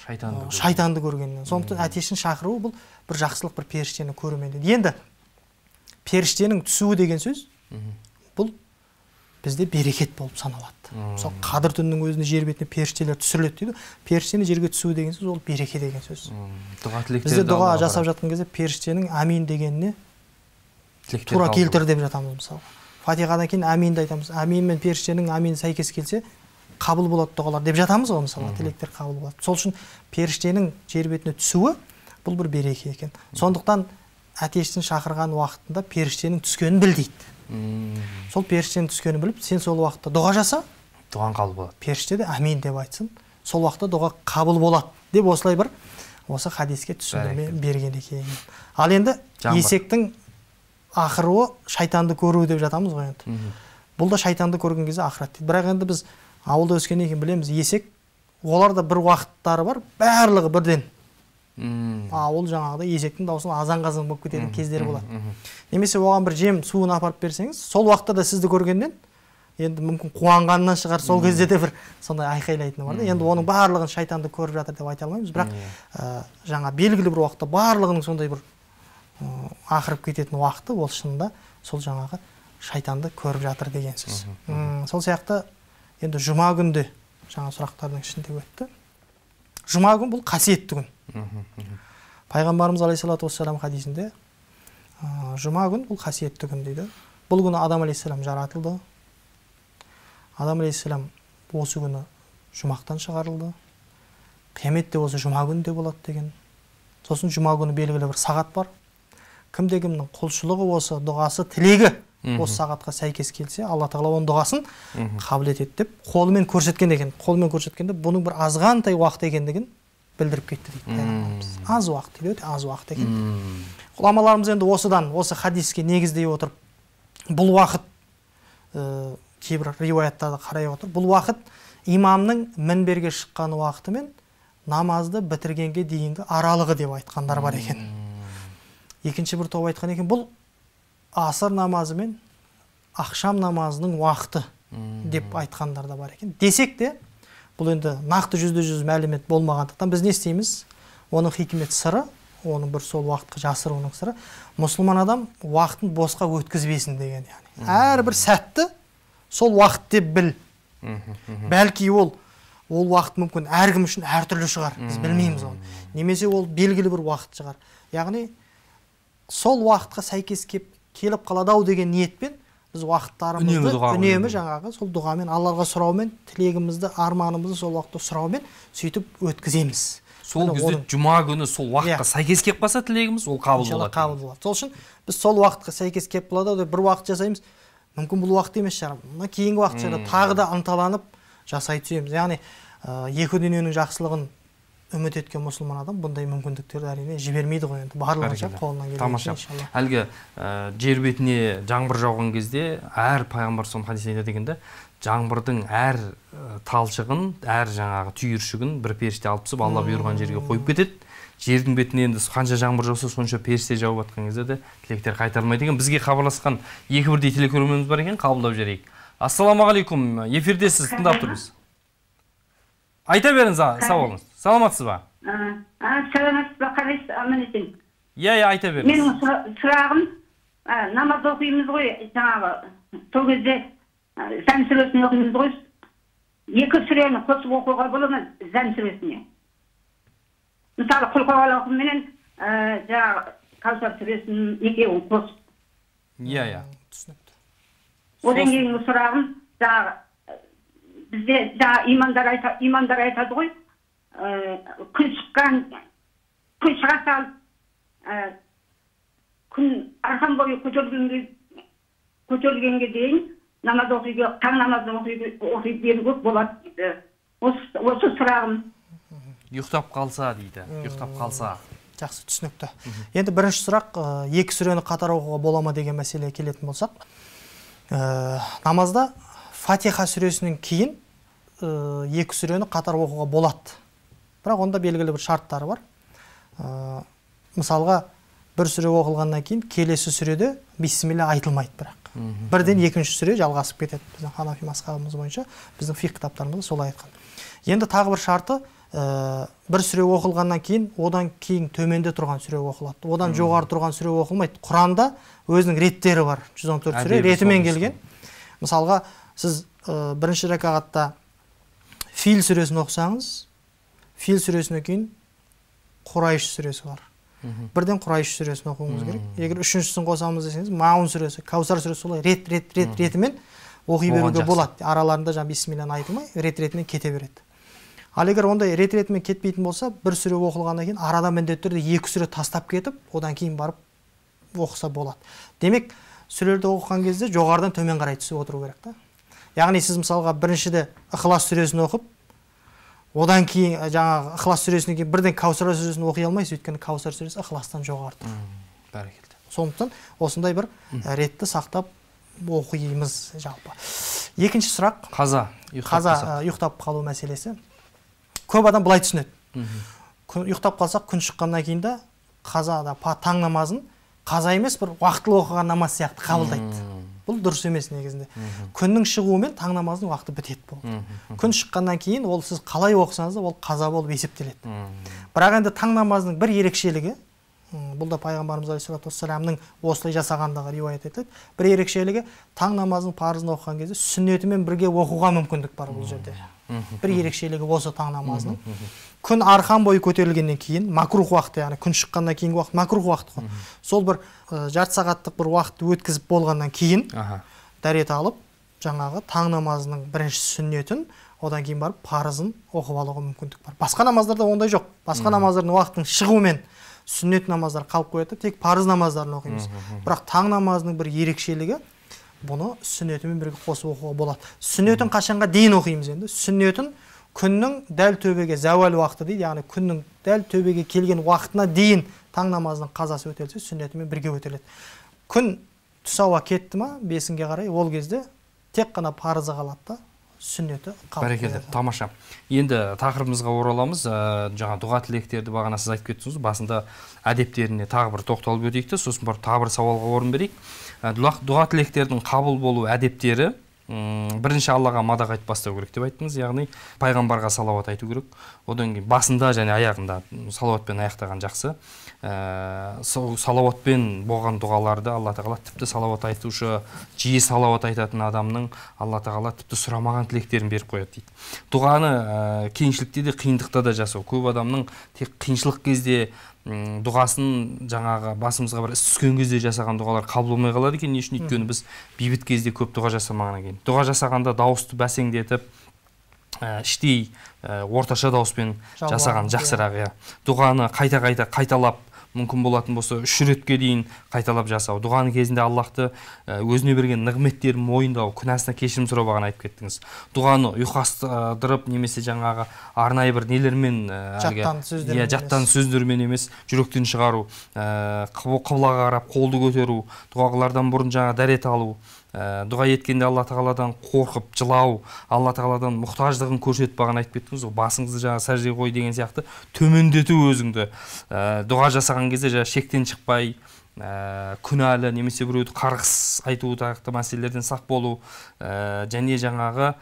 шайтанды көргенінен. Сондықтан атештің шақыруы бұл бір жақсылық, бір періштені көрумен дейді. Енді періштенің түсуі деген сөз бұл бізде берекет болып саналады. Мысалы қадір түнінің өзінде жер бетіне періштелер түсіріледі дейді. Періштенің жерге түсуі деген сөз ол береке деген сөз. Бізде дұға жасап жатқан кезде періштенің амин дегеніне тура келтір деп жатамыз мысалы. Фатихадан кейін аминді айтамыз. Амин мен періштенің амин сәйкес келсе қабыл болады дұғалар деп жатамыз ғой мысалы, тілектер қабыл болады. Сол үшін періштенің жер бетіне түсуі бұл бір береке екен. Сондықтан атештің шақырған уақытында періштенің түскенін біл дейді. Сол періштенің түскенін біліп, сен сол уақытта дұға жаса, дұғаң қабыл болады. Періште де амин деп айтсын, сол уақытта дұға қабыл болады деп осылай бір осы хадиске түсіндірме берген екен. Ал енді есектің ақыруы шайтанды көруі деп жатамыз ғой енді. Бұл да шайтанды көрген кезде ақырат дейді. Бірақ енді біз ауылда өскеннен кейін білеміз, есек оларда бір уақыттары бар, барлығы бірден. Ол жаңағыда есектің даусын азан-қазан болып кететін кездері болады. Немесе оған бір жем суын апарып берсеңіз, сол уақытта да сізді көргеннен енді мүмкін қуанғаннан шығар, сол кезде де бір сондай айқайлайтыны бар да. Енді оның барлығын шайтанды көріп жатыр деп айта алмаймыз, бірақ жаңа белгілі бір уақытта барлығының сондай бір ақырып кететін уақыты ол шынында сол жаңағы шайтанды көріп жатыр деген сөз. Сол сияқты енді жұма күнде жаңа сұрақтардың ішінде өтті. Жұма күн бұл қасиетті күн. Пайғамбарымыз алейхиссалату вассалам хадисінде жұма күн бұл қасиетті күн дейді. Бұл күні Адам алейхиссалам жаратылды. Адам алейхиссалам осы күні жұмақтан шығарылды. Қияметте осы жұма күнінде болады деген. Сосын жұма күні белгілі бір сағат бар. Кімде-кімнің құлшылығы осы, дұғасы, тілегі осы сағатқа сәйкес келсе, Алла тағала оның дұғасын қабыл етеді деп қолымен көрсеткен екен. Қолымен көрсеткенде бұның бір азғантай уақыт екендігін білдіріп кетті дейді. Аз уақыт дейді, аз уақыт екен. Ғұламаларымыз енді осыдан, осы хадиске негіздей отырып, бұл уақыт кейбір риуаяттарды қарай отырып, бұл уақыт имамның мінберге шыққан уақыты мен намазды бітіргенге дейінгі аралығы деп айтқандар бар екен. Екінші бір топ айтқан екен, бұл асыр намазы мен ақшам намазының уақыты деп айтқандар да бар екен. Десек те, бұл енді нақты %100 мәлімет болмағандықтан біз не істейміз? Оның хикмет сыры, оның бір сол уақытқа жасыруының сыры, мұсылман адам уақытын босқа өткізбесін деген. Әрбір сәтті сол уақыт деп біл. Бәлки ол уақыт мүмкін әркім үшін әртүрлі шығар, біз білмейміз оны. Немесе ол белгілі бір уақыт шығар. Яғни сол уақытқа сәйкес келіп қалады-ау деген ниетпен біз уақыттарымызды үнемі жаңағы сол дұғамен, Аллаға сұраумен, тілегімізді, арманымызды сол уақытта сұраумен сөйтіп өткіземіз. Сол кезде жұма күні сол уақытқа сәйкес келіп қалса тілегіміз, ол қабыл болады. Сол үшін біз сол уақытқа сәйкес келіп қалады деп бір уақыт жасаймыз. Мүмкін бұл уақыт емес шығар. Мына кейінгі уақыт шығар, тағы да ынталанып жасай түсеміз. Яғни екі дүниенің жақсылығын үміт еткен мұсылман адам бұндай мүмкіндіктерді әрине жібермейді ғой енді. Барлығынша қолынан келгенше иншалла. Әлгі жер бетіне жаңбыр жауған кезде әр пайғамбар соның хадисінде айтады дегенде, жаңбырдың әр талшығын, әр жаңағы түйіршігін бір періште алып түсіп, Алла бұйырған жерге қойып кетеді. Жердің бетіне енді қанша жаңбыр жауса, сонша періште жауып жатқан кезде де тілектер қайтарылмайды екен. Бізге хабарласқан екі бірдей телекөрерменіміз бар екен, қабылдап жіберейік. Ассалаумағалейкум, эфирдесіз, тыңдап тұрмыз. Айта беріңіз, сау болыңыз. Саламатсыз ба? Саламатсыз ба, қалайсыз, аман есен? Иә, айта беріңіз. Менің сұрағым, намаз оқимыз ғой, жаңағы, сол кезде Зәм сүресін оқимыз ғой, екі сүрені қосып оқуға бола ма, Зәм сүресіне? Мысалы, Құл-Хуаллаху менен жаңағы Кәусар сүресін екеуін қосып. Иә. Түсінікті. Одан кейінгі сұрағым, жаңағы бізде имамдар айтады ғой, күн шыға салып, күн арқан бойы көтерілгенге дейін намаз оқиға, таң намазды оқи беруге болады дейді. Осы сұрағым. Ұйықтап қалса дейді, ұйықтап қалса. Жақсы, түсінікті. Енді бірінші сұрақ, екі сүрені қатар оқуға бола ма деген мәселеге келетін болсақ, намазда Фатиха сүресінен кейін екі сүрені қатар оқуға болады. бірақ онда белгілі бір шарттары бар. Мысалға бір сүре оқылғаннан кейін келесі сүреде бисмилля айтылмайды, бірақ бірден екінші сүре жалғасып кетеді. Біздің ханафи мазхабымыз бойынша, біздің фиқ кітаптарымызда солай айтқан. Енді тағы бір шарты, бір сүре оқылғаннан кейін одан кейін төменде тұрған сүре оқылады, одан жоғары тұрған сүре оқылмайды. Құранда өзінің реттері бар, 114 сүре ретімен келген. Мысалға сіз бірінші ракағатта Фил сүресін оқысаңыз, Фил сүресінен кейін Құрайш сүресі бар. Бірден Құрайш сүресін оқуыңыз керек. Егер үшіншісін қосамыз десеңіз, Маун сүресі, Каусар сүресі солай ретімен оқи беруге болады. Араларында жаңа бисмилляны айтылмай, ретімен кете береді. Ал егер ондай ретімен кетпейтін болса, бір сүре оқылғаннан кейін арада міндетті түрде екі сүре тастап кетіп, одан кейін барып оқыса болады. Демек, сүрелерді оқыған кезде жоғарыдан төмен қарай түсіп отыру керек та. Яғни сіз мысалға біріншіде Ықылас сүресін оқып, одан кейін жаңағы Ықылас сүресінен кейін бірден Каусар сүресін оқи алмайсыз, өйткені Каусар сүресі Ықыластан жоғары тұр. Бәрекелді. Сондықтан осындай бір ретті сақтап оқимыз жалпы. Екінші сұрақ, қаза ұйықтап қалу мәселесі. Көп адам былай түсінеді. Ұйықтап қалсақ, күн шыққаннан кейін де қазада таң намазын қаза емес, бір уақытылы оқыған намаз сияқты қабылдайды. Бұл дұрыс емес негізінде. Күннің шығуымен таң намазының уақыты бітеді болды. Күн шыққаннан кейін ол сіз қалай оқысаңыз да ол қаза болып есептеледі. Бірақ енді таң намазының бір ерекшелігі, бұл да пайғамбарымыз алейхиссалату вассаламның осылай жасағандығы риуаят етіледі. Бір ерекшелігі, таң намазының парызын оқыған кезде сүннетімен бірге оқуға мүмкіндік бар бұл жерде. Бір ерекшелігі осы таң намазының. Күн арқан бойы көтерілгеннен кейін, макрух уақыты, яғни күн шыққаннан кейінгі уақыт макрух уақыт қой. Сол бір жарты сағаттық бір уақытты өткізіп болғаннан кейін дәрет алып, жаңағы таң намазының бірінші сүннетін, одан кейін барып парызын оқып алуға мүмкіндік бар. Басқа намаздарда ондай жоқ. Басқа намаздардың уақытының шығуымен сүннет намаздар қалып қояды, тек парыз намаздарын оқимыз. Бірақ таң намазының бір ерекшелігі, бұны сүннетімен бірге қосып оқуға болады. Сүннетін қашанға дейін оқимыз енді? Сүннетін күннің дәл төбеге зәуал уақыты дейді, яғни күннің дәл төбеге келген уақытына дейін таң намазының қазасы өтелсе, сүннетімен бірге өтеледі. Күн түс ауа кетті ма, 5-ге қарай, ол кезде тек қана парызы қалады да, сүннеті қалып. Бәрекелді, тамаша. Енді тақырыбымызға ораламыз. Жаңа дұға тілектерді бағана сіз айтып кеттіңіз, басында әдептеріне тағы бір тоқталып өтейік, сосын бір тағы бір сауалға орын берейік. Дұға тілектердің қабыл болу әдептері, бірінші Аллаға мадақ айтып бастау керек деп айттыңыз, яғни пайғамбарға салауат айту керек. Одан кейін басында және аяғында салауатпен аяқтаған жақсы. Салауатпен болған дұғаларды Алла тағала тіпті салауат айтушы, жиі салауат айтатын адамның Алла тағала тіпті сұрамаған тілектерін беріп қояды дейді. Дұғаны кеңшілікте де қиындықта да жасау. Көп адамның тек қиыншылық кезде дұғасын жаңағы басымызға бір іс түскен кезде жасаған дұғалар қабыл болмай қалады екен. Не үшін? Өйткені біз бейбіт кезде көп дұға жасамағаннан кейін. Дұға жасағанда дауысты бәсеңдетіп, іштей орташа дауыспен жасаған жақсырақ. Дұғаны қайталап, мүмкін болатын болса 3 ретке дейін қайталап жасау. Дұғаны кезінде Аллахты өзіне берген нығметтерін мойындау, күнәсіне кешірім сұрау бағана айтып кеттіңіз. Дұғаны ұйқастырып немесе жаңағы арнайы бір нелермен, жаттан сөздермен емес, жүректен шығару, қыблаға қарап қолды көтеру, дұғалардан бұрын жаңа дәрет алу, дұға еткенде Алла тағаладан қорқып жылау, Алла тағаладан мұқтаждығын көрсетіп бағана айтып кеттіңіз, басыңызды жаңа сәждеге қой деген сияқты төмендету өзіңді. Дұға жасаған кезде жаңа шектен шықпай, күнәлі немесе біреуді қарғыс айту тақты мәселелерден сақ болу, және жаңағы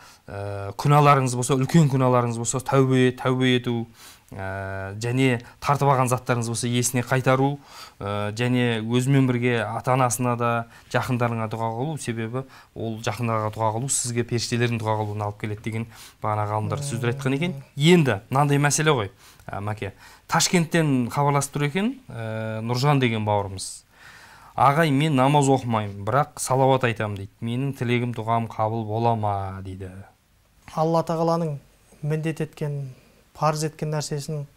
күнәларыңыз болса, үлкен күнәларыңыз болса, тәубе ету, және тартып алған заттарыңыз болса есіне қайтару, және өзімен бірге ата-анасына да жақындарыңа дұға қылу, себебі ол жақындарға дұға қылу сізге періштелердің дұға қылуына алып келеді деген бағана ғалымдар сөздер айтқан екен. Енді мынандай мәселе ғой, Мәке. Ташкенттен хабарласып тұр екен, Нұржан деген бауырымыз. Ағай, мен намаз оқымаймын, бірақ салауат айтамын дейді. Менің тілегім, дұғам қабыл бола ма дейді. Алла тағаланың міндет еткен, парыз еткен нәрсесін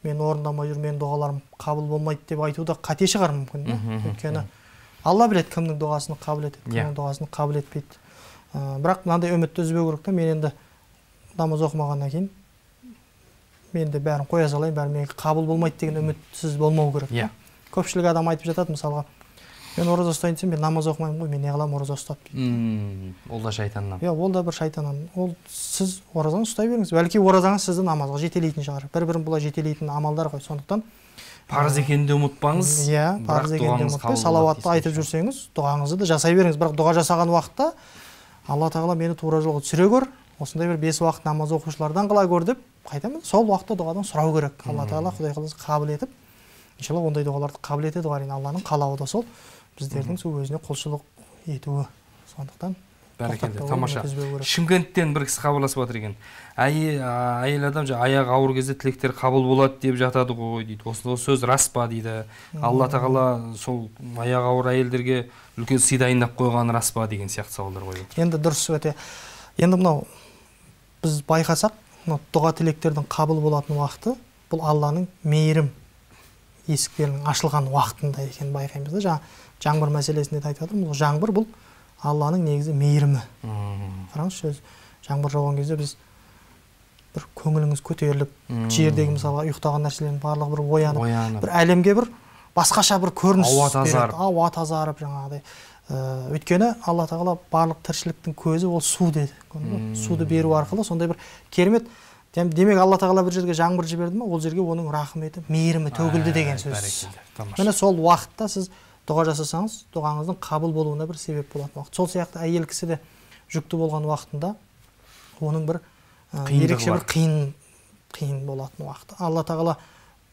мен орындамай жүр, мен дұғаларым қабыл болмайды деп айтуда қате шығар мүмкін. Өйткені Алла біледі кімнің дұғасын қабыл етеді, кімнің дұғасын қабыл етпейді. Бірақ мынандай үмітті үзбеу керек та, мен енді намаз оқымағаннан кейін мен де бәрін қоя салайын, бәрі менің қабыл болмайды деген үмітсіз болмау керек. Көпшілік адам айтып жатады, мысалға Мен ораза ұстайын десем, мен намаз оқымаймын ғой, мен не қыламын ораза ұстап дейді. Ол да шайтаннан. Иә, ол да бір шайтаннан. Ол сіз оразаны ұстай беріңіз. Бәлки оразаңыз сізді намазға жетелейтін шығар. Бір-бірін бұлай жетелейтін амалдар ғой. Сондықтан парыз екенін де ұмытпаңыз. Иә, парыз екенін де ұмытпай, салауатты айтып жүрсеңіз, дұғаңызды да жасай беріңіз. Бірақ дұға жасаған уақытта Алла тағала мені тура жолға түсіре көр, осындай бір 5 уақыт намаз оқушылардан қыла көр деп қайтамын. Сол уақытта дұғадан сұрау керек. Алла тағала Құдай қаласа қабыл етіп, иншалла ондай дұғаларды қабыл етеді ғой. Алланың қалауы да сол. Біздердің сол өзіне құлшылық етуі. Сондықтан бәрекелді, тамаша. Шымкенттен бір кісі хабарласып жатыр екен. Әйел адам аяғы ауыр кезде тілектер қабыл болады деп жатады ғой дейді. Осы сөз рас па дейді. Алла тағала сол аяғы ауыр әйелдерге үлкен сый дайындап қойғаны рас па деген сияқты сауалдар қойып отыр. Енді дұрыс өте. Енді мынау біз байқасақ, дұға тілектердің қабыл болатын уақыты бұл Алланың мейірім есіктерінің ашылған уақытында екенін байқаймыз да. Жаңбыр мәселесінде айтып жатырмыз. Жаңбыр бұл Алланың негізі мейірімі. Қараңызшы, жаңбыр жауған кезде біз бір көңіліңіз көтеріліп, жердегі мысалға ұйықтаған нәрселердің барлығы бір оянып, бір әлемге бір басқаша бір көрініс береді. Ауа тазарып жаңағыдай. Өйткені Алла тағала барлық тіршіліктің көзі ол су деді. Суды беру арқылы сондай бір керемет. Демек Алла тағала бір жерге жаңбыр жіберді ме, ол жерге оның рахметі, мейірімі төгілді деген сөз. Міне сол уақытта сіз дұға жасасаңыз, дұғаңыздың қабыл болуына бір себеп болатын уақыт. Сол сияқты әйел кісі де жүкті болған уақытында оның бір ерекше бір қиын болатын уақыт. Алла тағала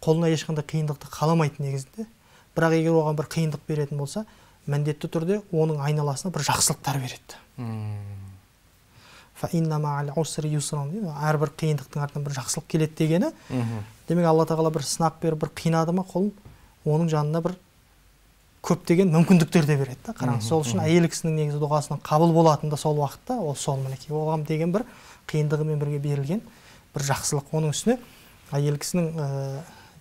қолына ешқандай қиындықты қаламайды негізінде. Бірақ егер оған бір қиындық беретін болса, міндетті түрде оның айналасына бір жақсылықтар береді. Әрбір қиындықтың артынан бір жақсылық келеді дегені. Демек Алла тағала бір сынақ беріп, бір қинады ма қолын, оның жанына бір көптеген мүмкіндіктер де береді. Қараңыз, сол үшін әйел кісінің негізі дұғасының қабыл болатын да сол уақытта, ол сол мінекей. Оған деген бір қиындығымен бірге берілген бір жақсылық. Оның үстіне әйел кісінің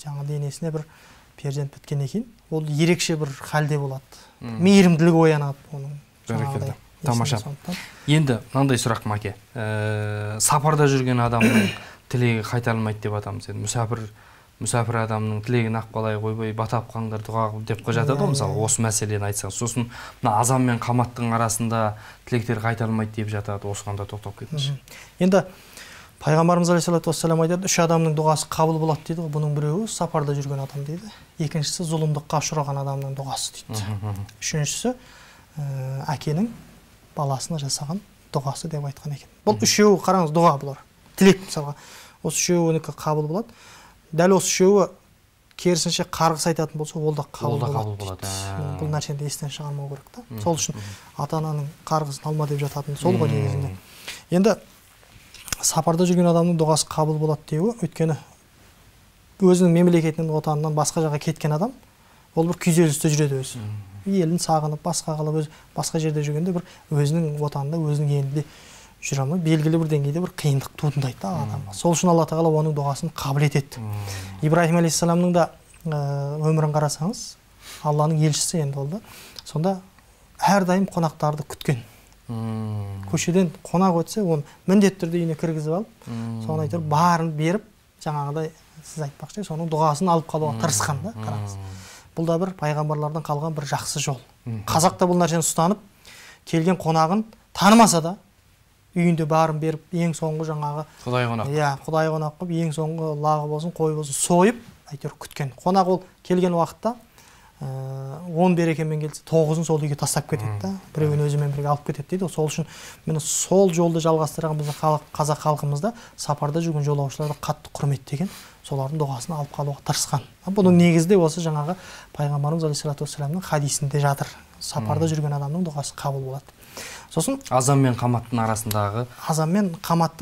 жаңа денесіне бір перзент біткеннен кейін, ол ерекше бір халде болады. Мейірімділік оянады оның. Бәрекелді. Тамаша. Енді мынандай сұрақ Маке. Сапарда жүрген адамның тілегі қайтарылмайды деп атамыз. Мүсәпір адамның тілегін ақбалай қойбай батап қаңдар дұға деп жатады ғой, мысалы осы мәселені айтсаңыз. Сосын мына азан мен қаматтың арасында тілектер қайтарылмайды деп жатады. Осыған да тоқтап кетіңізші. Енді Пайғамбарымыз алейхиссалату вассалам айтады, 3 адамның дұғасы қабыл болады дейді ғой. Бұның біреуі сапарда жүрген адам дейді. Екіншісі зұлымдыққа ұшыраған адамның дұғасы дейді. Үшіншісі әкенің баласына жасаған дұғасы деп айтқан екен. Бұл үшеуі қараңыз дұға бұлар. Тілек мысалға. Осы үшеуінікі қабыл болады. Дәл осы үшеуі керісінше қарғыс айтатын болса, ол да қабыл болады. Бұл нәрсені естен шығармау керек та. Сол үшін ата-ананың қарғысын алма деп жататын сол ғой негізінде. Енді сапарда жүрген адамның дұғасы қабыл болады деуі, өйткені өзінің мемлекетінен, отанынан басқа жаққа кеткен адам, ол бір күйзелісте жүреді өзі. Елін сағынып, басқа қалып, басқа жерде жүргенде бір өзінің отанында, өзінің елінде жүре алмай, белгілі бір деңгейде бір қиындық туындайды да адамға. Сол үшін Алла тағала оның дұғасын қабыл етеді. Ибраһим алейхиссаламның да өмірін қарасаңыз, Алланың елшісі енді ол да. Сонда әрдайым қонақтарды күткен. Көшеден қонақ өтсе, оны міндетті түрде үйіне кіргізіп алып, соны айтып барын беріп, жаңағыдай сіз айтпақшы, соның дұғасын алып қалуға тырысқан да, қараңыз. Бұл да бір пайғамбарлардан қалған бір жақсы жол. Қазақ та бұл нәрсені ұстанып, келген қонағын танымаса да, үйінде барын беріп, ең соңғы жаңағы Құдай қонақ. Иә, Құдай қонақ қылып, ең соңғы лағы болсын, қой болсын, сойып, әйтеуір күткен. Қонақ ол келген уақытта 10 берекемен келсе, 9-ын сол үйге тастап кетеді да, біреуін өзімен бірге алып кетеді дейді. Сол үшін мені сол жолды жалғастырған біздің қазақ халқымызда сапарда жүрген жолаушыларды қатты құрметтеген, солардың дұғасын алып қалуға тырысқан. Бұның негізінде осы жаңағы Пайғамбарымыз алейхиссалату вассаламның хадисінде жатыр. Сапарда жүрген адамның дұғасы қабыл болады. Сосын азан мен қаматтың арасындағы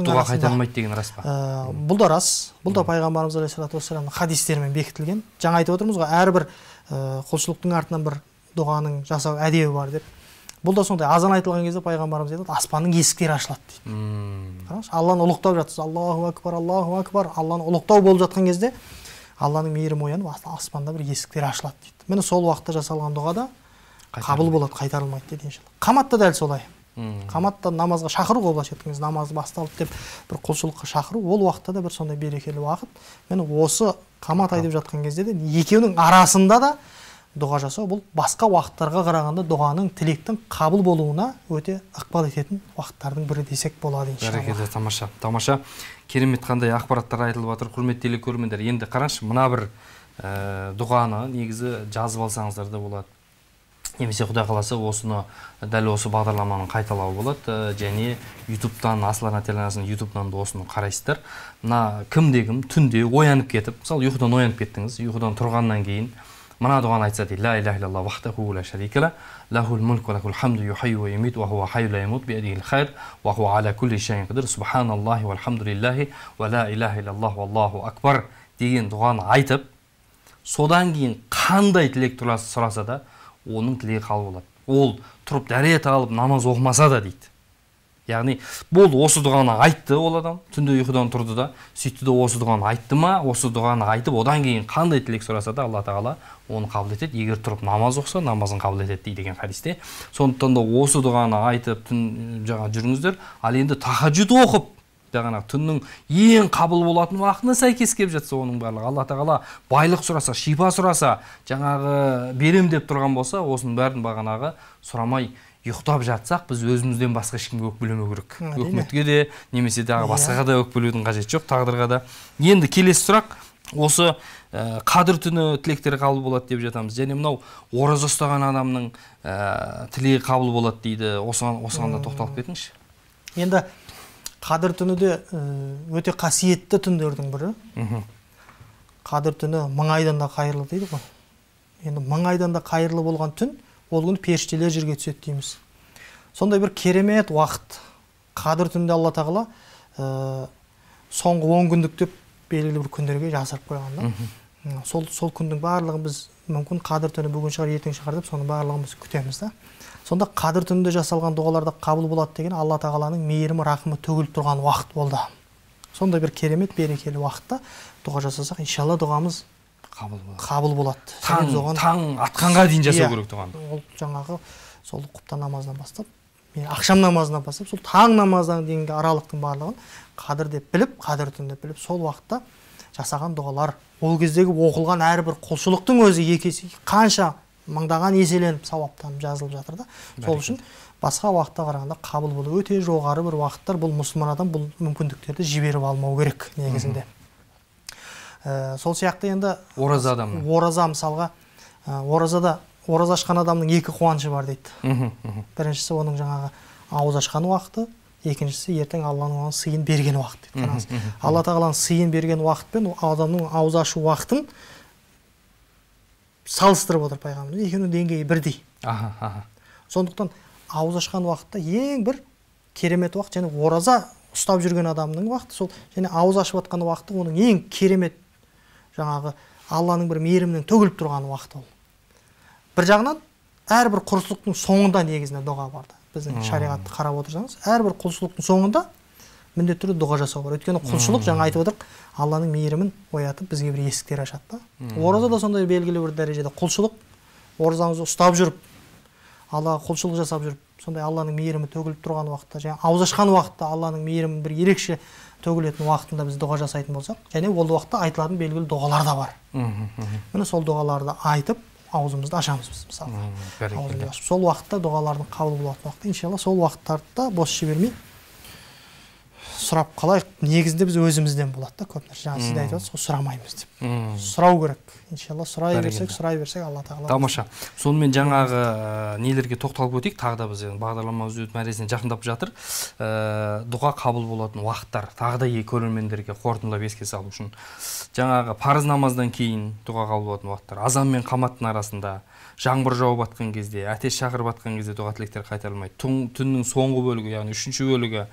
дұға қайтарылмайды деген рас па? Бұл да рас. Бұл да Пайғамбарымыз алейхиссалату вассаламның хадистерімен бекітілген. Жаңа айтып отырмыз ғой, әрбір құлшылықтың артынан бір дұғаның жасау әдебі бар деп. Бұл да сондай, азан айтылған кезде Пайғамбарымыз айтады, аспанның есіктері ашылады дейді. Қараңыз, Алланы ұлықтап жатсыз, Аллаху акбар, Аллаху акбар. Алланы ұлықтау болып жатқан кезде Алланың мейірімі оянып, аспанда бір есіктер ашылады дейді. Міне сол уақытта жасалған дұға да қабыл болады, қайтарылмайды дейді иншалла. Қаматта дәл солай. Қаматта намазға шақыру ғой, былайша айтқанда намазы басталды деп бір құлшылыққа шақыру, ол уақытта да бір сондай берекелі уақыт. Міне осы қамат айтып жатқан кезде де екеуінің арасында да дұға жасау бұл басқа уақыттарға қарағанда дұғаның тілектің қабыл болуына өте ықпал ететін уақыттардың бірі десек болады иншалла. Бәрекелді, тамаша. Тамаша. Керемет қандай ақпараттар айтылып жатыр. Құрметті телекөрермендер, енді қараңызшы, мына бір дұғаны негізі жазып алсаңыздар да болады. Немесе Құдай қаласа осыны дәл осы бағдарламаның қайталауы болады. Және YouTube-тан, Асыл Арна телеарнасының YouTube-тан да осыны қарайсыздар. Мына кім түнде оянып кетіп, мысалы ұйқыдан оянып кеттіңіз, ұйқыдан тұрғаннан кейін мына дұғаны айтса дейді: ла иляха иллаллах вахдаху ла шарика ла, лахул мульк ва лахул хамду юхйи ва юмит ва хува хайюн ла ямут би йадихил хайр ва хува аля кулли шайин қадир, субханаллахи вальхамдулиллахи ва ла иляха иллаллах валлаху акбар деген дұғаны айтып, содан кейін қандай тілек сұраса да оның тілегі қабыл болады. Ол тұрып дәрет алып намаз оқымаса да дейді. Яғни болды, осы дұғаны айтты ол адам, түнде ұйқыдан тұрды да, сөйтті де осы дұғаны айтты ма, осы дұғаны айтып, одан кейін қандай тілек сұраса да Алла тағала оны қабыл етеді. Егер тұрып намаз оқса, намазын қабыл етеді дейді деген хадисте. Сондықтан да осы дұғаны айтып жүріңіздер. Ал енді тахаджуд оқып, жаңағы түннің ең қабыл болатын уақытына сәйкес келіп жатса, оның барлығы Алла тағала байлық сұраса, шипа сұраса, жаңағы берем деп тұрған болса, осының бәрін бағанағы сұрамай ұйықтап жатсақ, біз өзімізден басқа ешкімге өкпелемеу керек. Өкіметке де, немесе дағы басқаға да өкпелеудің қажеті жоқ, тағдырға да. Енді келесі сұрақ, осы қадір түні тілектері қабыл болады деп жатамыз. Және мынау ораза ұстаған адамның тілегі қабыл болады дейді. Осыған да тоқталып кетіңізші. Енді қадір түні де өте қасиетті түндердің бірі. Қадір түні мың айдан да қайырлы дейді ғой. Енді мың айдан да қайырлы болған түн, ол күні періштелер жерге түседі дейміз. Сондай бір керемет уақыт. Қадір түнде Алла тағала соңғы 10 күндік деп белгілі бір күндерге жасырып қойған. Сол күндің барлығын біз мүмкін қадір түні бүгін шығар, ертең шығар деп, соның барлығын біз күтеміз да. Сонда қадір түнінде жасалған дұғаларда қабыл болады деген Алла тағаланың мейірімі, рахымы төгіліп тұрған уақыт болды. Сондай бір керемет, берекелі уақытта дұға жасасақ, иншалла дұғамыз қабыл болады. Таң атқанға дейін жасау керек дұғаны. Ол жаңағы сол құптан намазынан бастап, ақшам намазынан бастап, сол таң намаздан дейінгі аралықтың барлығын қадір деп біліп, қадір түн деп біліп, сол уақытта жасаған дұғалар, ол кездегі оқылған әрбір құлшылықтың өзі екесі қанша мыңдаған еселеніп сауаптанып жазылып жатыр да. Сол үшін басқа уақытта қарағанда қабыл болу өте жоғары бір уақыттар. Бұл мұсылман адам бұл мүмкіндіктерді жіберіп алмау керек негізінде. Сол сияқты енді ораза мысалға, ораза ашқан адамның екі қуанышы бар дейді. Біріншісі оның жаңағы ауыз ашқан уақыты, екіншісі ертең Алланың оған сыйын берген уақыт дейді. Алла тағаланың сыйын берген уақыт пен адамның ауыз ашу уақытын салыстырып отыр пайғамбарымыз. Екеуінің деңгейі бірдей. Сондықтан ауыз ашқан уақытта ең бір керемет уақыт, және ораза ұстап жүрген адамның уақыты сол, және ауыз ашып жатқан уақыты оның ең керемет жаңағы Алланың бір мейірімінің төгіліп тұрған уақыты ол. Бір жағынан әрбір құлшылықтың соңында негізінде дұға барды. Біздің шариғатты қарап отырсаңыз, әрбір құлшылықтың соңында міндетті түрде дұға жасау бар. Өйткені құлшылық, жаңа айтып отырық, Алланың мейірімін оятып бізге бір есіктер ашады. Ораза да сондай белгілі бір дәрежеде құлшылық, оразаңызды ұстап жүріп, Аллаға құлшылық жасап жүріп, сондай Алланың мейірімі төгіліп тұрған уақытта, және ауыз ашқан уақытта Алланың мейірімі бір ерекше төгілетін уақытында біз дұға жасайтын болсақ, және ол уақытта айтылатын белгілі дұғалар да бар. Міне сол дұғаларды айтып, аузымызды ашамыз біз мысалы. Сол уақытта дұғалардың қабыл болатын уақытта, иншалла сол уақыттарда бос жібермей сұрап қалайық. Негізінде біз өзімізден болады да көп нәрсе. Жаңа сіз айтып отырсыз, сұрамаймыз деп. Сұрау керек. Иншалла сұрай берсек, Алла тағала. Тамаша. Сонымен жаңағы нелерге тоқталып өтейік. Тағы да біз бағдарламамыз өз мәресіне жақындап жатыр. Дұға қабыл болатын уақыттар тағы да көрермендерге қорытындылап еске салу үшін. Жаңағы парыз намаздан кейін дұға қабыл болатын уақыттар, азан мен қаматтың арасында, жаңбыр жауып атқан кезде, әтеш шақырып атқан кезде дұға тілектер қайтарылмайды. Түннің соңғы бөлігі, яғни 3-ші бөлігі,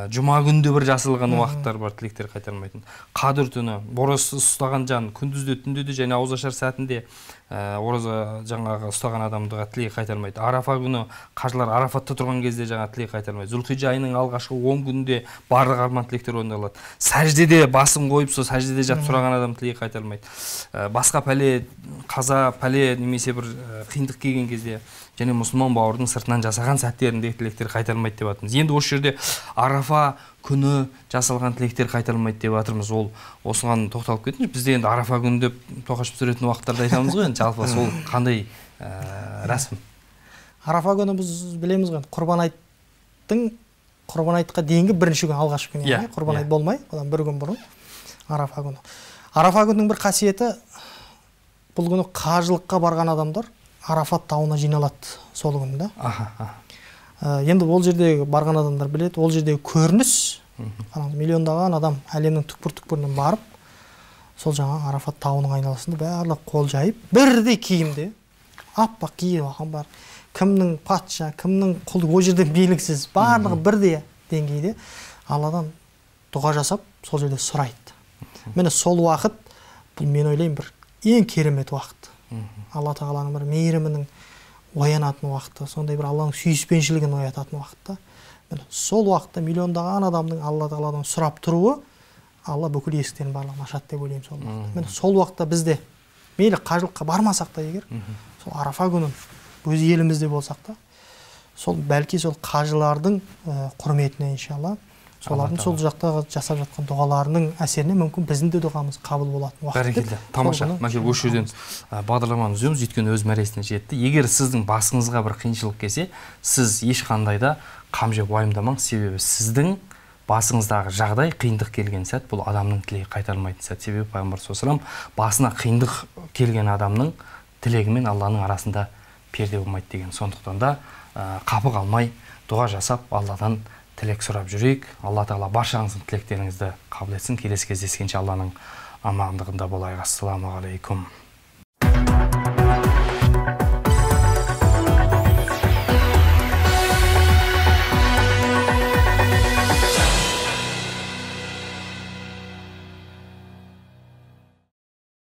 жұма күнде бір жасылған уақыттар бар, тілектер қайтарылмайтын. Қадір түні, ораза ұстаған жан күндізде, түнде де және ауыз ашар сәтінде ораза жаңағы ұстаған адамдыға тілек қайтарылмайды. Арафа күні қажылар Арафатта тұрған кезде жаңа тілек қайтарылмайды. Зүлхиджа айының алғашқы 10 күнінде барлық арман тілектер орындалады. Сәждеде басын қойып, сол сәждеде жатып сұраған адам тілек қайтарылмайды. Басқа пәле, қаза, пәле немесе бір қиындық келген кезде және мұсылман бауырдың сыртынан жасаған сәттерінде тілектер қайтарылмайды деп жатырмыз. Енді осы жерде Арафа күні жасалған тілектер қайтарылмайды деп жатырмыз. Ол осыған тоқталып кетіңіз. Бізде енді Арафа күні деп тоқаш пісіретін уақыттарда айтамыз ғой, енді жалпы сол қандай рәсім? Арафа күні біз білеміз ғой, Құрбан айтқа дейінгі бірінші күн, алғашқы күн, яғни Құрбан айт болмай, одан бір күн бұрын Арафа күні. Арафа күнінің бір қасиеті, бұл күні қажылыққа барған адамдар Арафат тауына жиналады сол күнді. Енді ол жердегі барған адамдар біледі, ол жердегі көрініс, миллиондаған адам әлемнің түкпір-түкпірінен барып, сол жаңа Арафат тауының айналасында барлық қол жайып, бірдей киімде, аппақ киіп алған бар. Кімнің патша, кімнің құл, ол жерде белгісіз, барлығы бірдей деңгейде Алладан дұға жасап, сол жерде сұрайды. Міне сол уақыт, бұл мен ойлаймын бір ең керемет уақыт. Алла тағаланың бір мейірімінің оянатын уақыты, сондай бір Алланың сүйіспеншілігін оятатын уақытта. Сол уақытта миллиондаған адамның Алла тағаладан сұрап тұруы, Алла бүкіл есіктерін барлығын ашады деп ойлаймын сол уақытта. Міне сол уақытта бізде мейлі қажылыққа бармасақ та егер, сол Арафа күнін өз елімізде болсақ та, сол бәлки сол қажылардың құрметіне иншалла, солардың сол жақта жасап жатқан дұғаларының әсеріне мүмкін біздің де дұғамыз қабыл болатын уақыт. Бәрекелді, тамаша. Мәке осы жерден бағдарламаны үземіз, өйткені өз мәресіне жетті. Егер сіздің басыңызға бір қиыншылық келсе, сіз ешқандай да қам жеп уайымдамаңыз, себебі сіздің басыңыздағы жағдай қиындық келген сәт, бұл адамның тілегі қайтарылмайтын сәт. Себебі пайғамбар саллаллаху алейхи ва саллям басына қиындық келген адамның тілегі мен Алланың арасында перде болмайды деген. Сондықтан да қапы қалмай дұға жасап, Алладан тілек сұрап жүрейік. Алла тағала баршаңыздың тілектеріңізді қабыл етсін. Келесі кездескенше Алланың амандығында болайық. Ассаламу алейкум.